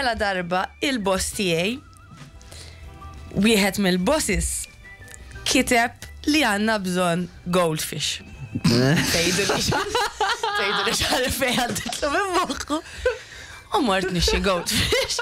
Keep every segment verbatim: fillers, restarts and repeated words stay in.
Mela darba il-boss tiegħi, wieħed mill-bosses, kiteb li għandna bżonn goldfish. Tgħidu li tgħidu li x'għalfejn għadditlu minn moħħu. U mort nixtri goldfish.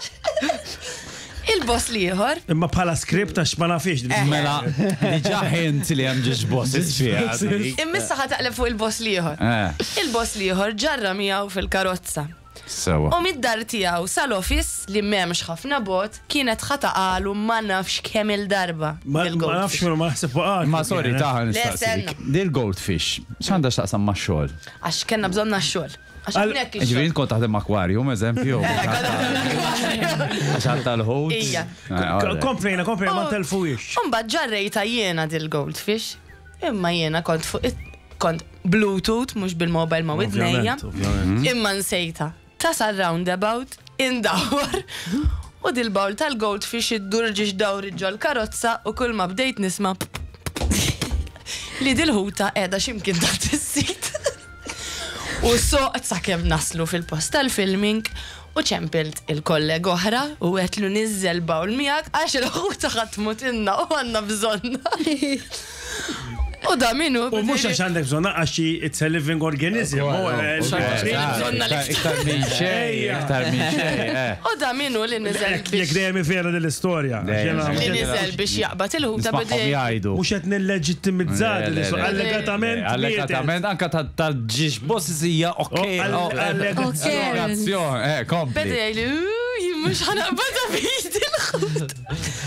Il-boss l-ieħor Imma bħala script, għax ma nafix. Eh. Mela, diġà hint li hemm żewġ bosses fiha. Immissa ħa taqleb fuq il-boss l-ieħor. Eh, Il-boss l-ieħor ġarra miegħu fil-karozza. Sewa. U mid-dar tiegħu sal-office, li m'hemmx ħafna bot, kienet ħa taqagħlu ma nafx kemm il-darba. Ma ma nafx ma naħseb waqgħat. Ma sorry, taħ nistaqsik. Stenna. Dil-goldfish, x'għandha x'taqsam ma' xogħol? Għax kellna bżonna x-xogħol. Għax Għal- hawnhekk Ġifieri ix-xogħol. kont taħdem aquarium, eżempju. Għax għal tal-ħut. Ija. Komplejna, komplejna, ma telfuix. Umbagħad ġarrejta jiena dil-goldfish. Imma jiena kont fuq it- kont Bluetooth, mhux bil-mobile ma' widnejja. Ovvjament, ovvjament. Imma nsejta. Tasal roundabout, indawar. U dil-bowl tal-goldfish iddur żewġ dawri ġol karozza u kull ma bdejt nisma' li dil-ħuta qiegħda x'imkien taħt is-seat. U soqt sakemm naslu fil-post tal-filming u ċempilt il-kollega oħra u għedtlu, "Niżżel bowl miegħek għax il-ħuta ħa tmutilna u għandna bżonnha." U da minnu. U mhux għax għandek bżonna, għax it's a living organism. U, eh, Bżonna l-iktar. Iktar minn xejn, iktar minn xejn. eh. U da minnu li niżel Jekk biex dejjem vera dell-istorja. Dejjem. Li niżel biex jaqbad il-ħuta Nismagħhom bidej. jgħidu. Mhux qed nilleġittimizza Le, le, le. allegatament. Allegatament, anka tal-żewġ bosses hija ok. Oh, all- oh, eh, allegazzjoni. Allegazzjoni, eh, kompli. Beda jgħidli, "Jien mhux ħa naqbadha b'idi l-ħuta."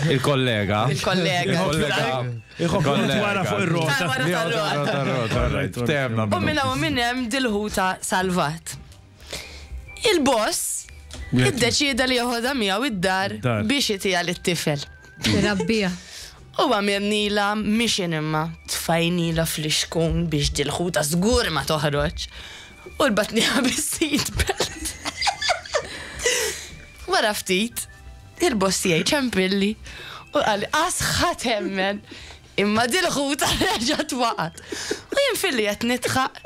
Il-kollega. Il-kollega. Il-kollega. Iħobb wara fuq ir-rota. Ta' wara tar-rota. Temna. U minna u minn hemm dil-ħuta salvat. Il-boss iddeċida li joħodha miegħu id-dar Id-dar. biex itiha lit-tifel. Rabbija. U għamilnila mission, imma tfajnila fl-ixkun biex dil-ħuta żgur ma toħroġ. U rbatniha bis-seat belt. Wara ftit, il-boss tiegħi ċempilli u qalli, "Qas ħa temmen, imma dil-ħuta reġgħet waqgħet." U jien filli qed nidħaq.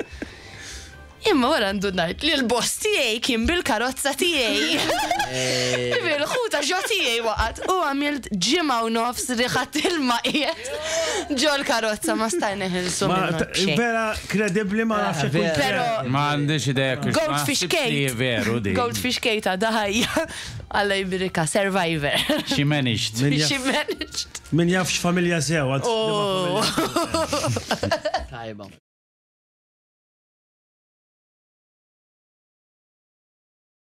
Imma wara ndunajt li l-boss tiegħi kien bil-karozza tiegħi. Bil-ħuta ġo tiegħi waqgħet u għamilt ġimgħa u nofs riħa ilma qiegħed ġo l-karozza, ma stajna neħilsu Ma minnu ta- b'xejn. vera kredibbli, ma nafx jekk Vera. Pero Ma għandix idea kif. Goldfish Kate. Veru di. Goldfish Kate għadha ħajja. Alla jbirika, survivor. She managed. Min jaf- She managed. Min jafx familja sew. għad- Oh. Tajba.